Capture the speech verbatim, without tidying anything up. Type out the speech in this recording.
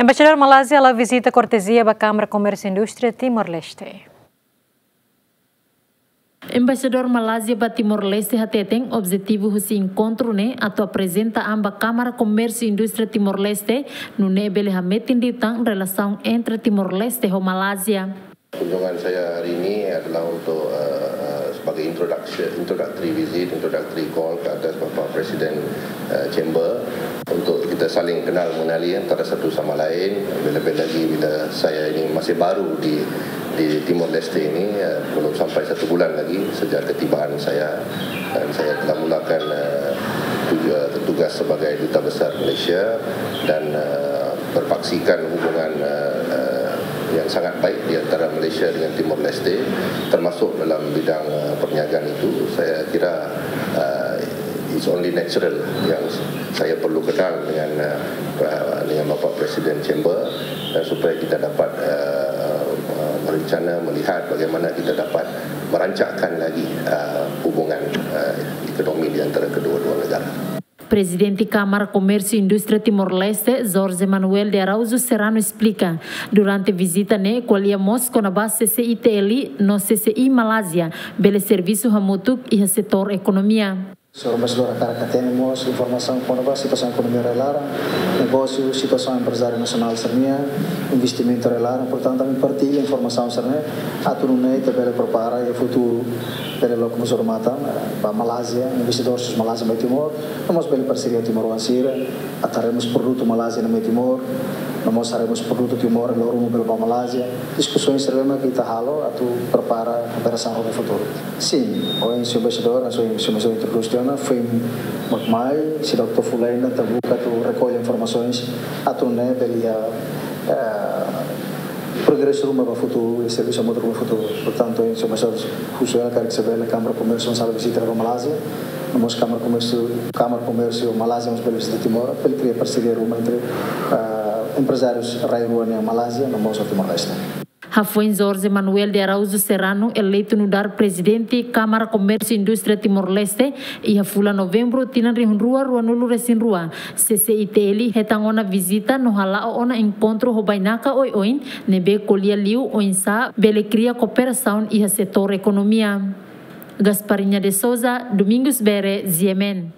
Embaixadór Malázia hala'o vizita kortezia ba Kámara Komérsiu Indústria Timor-Leste. Embaixadór Malázia ba Timor-Leste hateten objetivu husi enkontru ne'e atu aprezenta an ba Kámara Komérsiu Indústria Timor-Leste, nune'e bele hametin liután relasaun entre Timor-Leste ho Malázia. Kunjungan saya hari ini adalah untuk, eh, eh, sebagai introduction, introductory visit, introductory call ke atas Bapak Presiden, eh, Chamber, untuk kita saling kenal mengenali antara satu sama lain. Lebih-lebih lagi bila saya ini masih baru di, di Timor Leste ini, eh, belum sampai satu bulan lagi sejak ketibaan saya, dan saya telah mulakan, eh, tuj-, eh, tugas sebagai Duta Besar Malaysia dan, eh, berpaksikan hubungan, eh, eh, yang sangat baik di antara Malaysia dengan Timor Leste, termasuk dalam bidang, eh, perniagaan itu. Saya kira, eh, it's only natural yang saya perlu kenal dengan, eh, eh, dengan Bapak Presiden Chamber, dan supaya kita dapat, eh, eh, merencana, melihat bagaimana kita dapat merancakkan lagi, eh, hubungan, eh, ekonomi di antara kedua-dua negara. Prezidente Kámara Komérsiu Indústria Timor-Leste, Jorge Manuel de Araújo Serrano, esplika, durante vizita ne'e ko'alia mós kona-ba C C I T L no C C I Malázia bele servisu hamutuk iha setór ekonomia. Señór Embaixadór hakarak hatene mós informasaun kona-ba situasaun ekonomia rai-laran, negósiu, situasaun emprezáriu nasionál sira-nian, investimentu rai-laran, portantu, ami partilla informasaun sira-ne'e, atu nune'e ita bele prepara iha futuru, bele loke mós odamatan, eh, ba Malázia, investidór husi Malázia mai Timor, no mós bele parseria timoroan sira, atu haree mós produtu Malázia iha Timor, no mós haree mós produtu Timor, loro ruma bele ba Malázia. Diskusaun sira-ne'e mak ita halo atu prepara kooperasaun ba futuru. Sin, ohin señór Embaixadór, hanesan señór Embaixadór introdús tiha ona, foin mak mai, seidauk to'o fulan ita buka atu rekolla informasaun, atu nune'e bele iha, eh, progresu ruma ba futuru, i servisu hamutuk ruma ba futuru. Portantu, ohin señór Embaixadór husu hela karik se bele Kámara Komérsiu mós halo vizita ba Malázia, no mós Kámara Komérsiu, Kámara Komérsiu Malázia mós bele vizita Timor, bele kria parseria ruma entre, eh, emprezárius rai-rua nian Malázia, no mós Timor-Leste. Hafoin Jorge Manuel de Araújo Serrano eleitu nu'udar Prezidente Kámara Komérsiu Indústria Timor-Leste iha fulan Novembru tinan rihun rua ruanulu resin rua, C C I T L hetan ona vizita no hala'o ona enkontru ho bainaka oioin ne'ebé ko'alia liu oinsá bele kria kooperasaun iha setór ekonomia. Gasparinha de Souza, Domingos Bere, G M N.